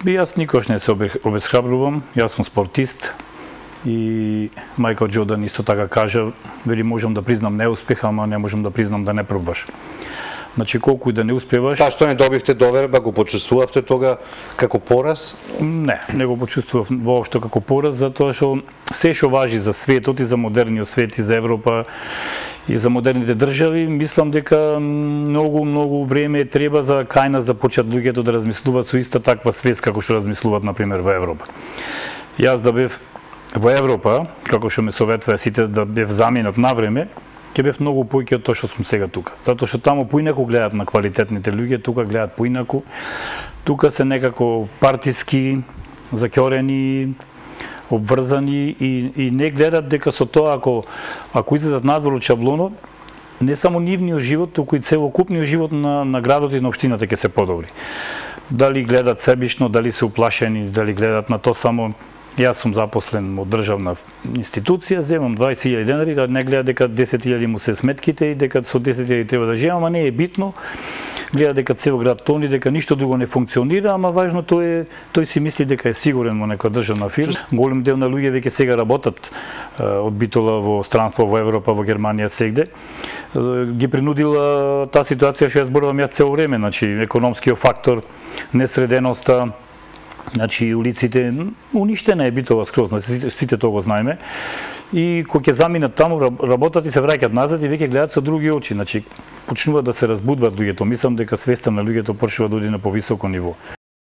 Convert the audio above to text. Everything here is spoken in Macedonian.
Јас никош не се обесхрабрувам, јас сум спортист и Мајкл Џордан исто така кажа, вели можам да признам неуспех, ама не можам да признам да не пробваш. Значи колку и да не успеваш. Та што не добивте доверба, го почувствувавте тога како пораз? Не го почувствував воопшто како пораз, затоа што се што важи за светот и за модерниот свет и за Европа и за модерните држави, мислам дека многу време треба за кај нас да почнат луѓето да размислуваат со иста таква свест како што размислуваат на пример во Европа. Јас да бев во Европа, како што ме советува сите да бев заменет на време, ќе бев многу поиќе од тоа што сум сега тука. Затоа што таму поинаку гледат на квалитетните луѓе, тука гледат поинаку. Тука се некако партиски, заќорени, обврзани и не гледат дека со тоа ако излезат надвор од шаблонот, не само нивниот живот, туку и целокупниот живот на градот и на општината ќе се подобри. Дали гледат себично, дали се уплашени, дали гледат на тоа само јас сум запослен од државна институција, земам 20.000 денари, да не гледа дека 10.000 му се сметките и дека со 10.000 треба да живеам, ама не е битно. Гледа дека цел град тони, дека ништо друго не функционира, ама важното е тој си мисли дека е сигурен во некоја државна фирма. Голем дел на луѓе веќе сега работат од Битола во странство во Европа, во Германија, сегде. Ги принудила таа ситуација што ја зборувам јас цело време, значи економскиот фактор, несреденоста, значи улиците, уништена е Битола скроз, сите тоа го знаеме. И кога ќе заминат таму, работат и се враќаат назад и веќе гледаат со други очи, значи почнуваат да се разбудваат луѓето. Мислам дека свеста на луѓето почнува да оди на повисоко ниво.